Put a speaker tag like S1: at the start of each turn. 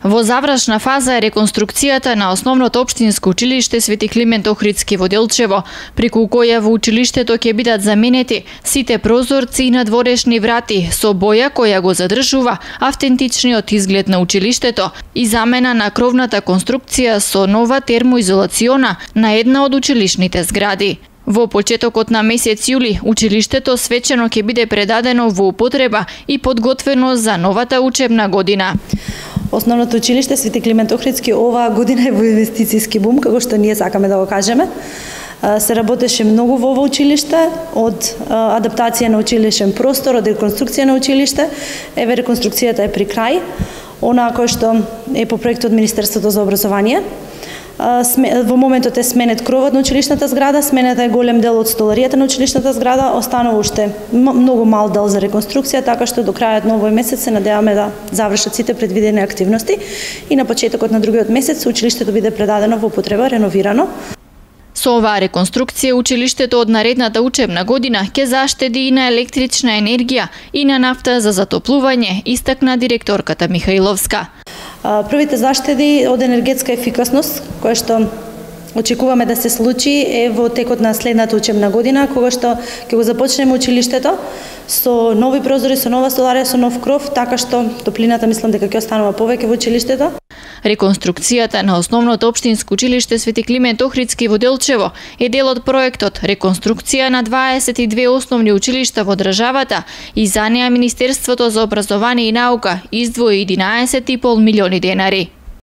S1: Во завршна фаза е реконструкцијата на основното општинско училиште Свети Климент Охридски во Делчево, преку која во училиштето ќе бидат заменети сите прозорци и надворешни врати со боја која го задржува автентичниот изглед на училиштето и замена на кровната конструкција со нова термоизолациона на една од училишните згради. Во почетокот на месец јули, училиштето свечено ќе биде предадено во употреба и подготвено за новата учебна година.
S2: Основното училиште Свети Климент Охридски оваа година е во инвестицијски бум, како што ние сакаме да го кажеме. Се работеше многу во ова училиште, од адаптација на училишен простор, од реконструкција на училиште. Еве реконструкцијата е при крај, онаа кој што е по проект од Министерството за образование. Во моментот е сменет кровот на училишната зграда, сменета е голем дел од столаријата на училишната зграда, останува уште многу мал дел за реконструкција, така што до крајот на овој месец се надеваме да завршат сите предвидени активности и на почетокот на другиот месец училиштето биде предадено во употреба, реновирано.
S1: Со оваа реконструкција училиштето од наредната учебна година ќе заштеди и на електрична енергија и на нафта за затоплување, истакна директорката Михаиловска.
S2: Првите заштеди од енергетска ефикасност, која што очекуваме да се случи е во текот на следната учебна година, кога што ќе го започнеме училиштето со нови прозори, со нова столарија, со нов кров, така што топлината мислам дека ќе останува повеќе во училиштето.
S1: Реконструкцијата на основното општинско училиште Свети Климент Охридски во Делчево е дел од проектот Реконструкција на 22 основни училишта во државата и за неа Министерството за образование и наука издвои 11,5 милиони денари.